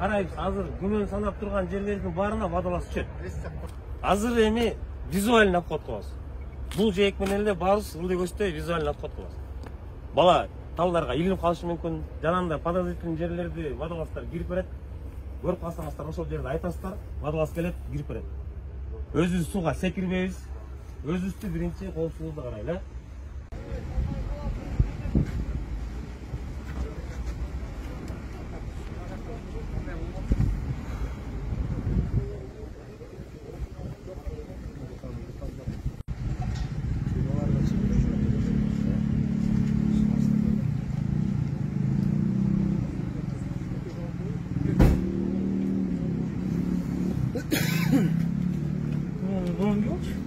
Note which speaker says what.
Speaker 1: карайбыз. Азыр күнөн санап турган жерлердин баарына водолаз түшөт. Азыр эми визуальный обход кылабыз. Бул жээк менен эле баарыбыз ылдый көздөй визуальный обход кылабыз. Бала талдарга илинип калышы мүмкүн. Жанагындай подозрительный жерлерди водолаздар кирип берет. Көрүп калсаңыздар ошол жерде айтасыздар, водолаз келет, кирип берет. Өзүбүз сууга секирбейбиз. Өзүбүздү биринчи коопсуздукка карайлы.
Speaker 2: Ne olmuş?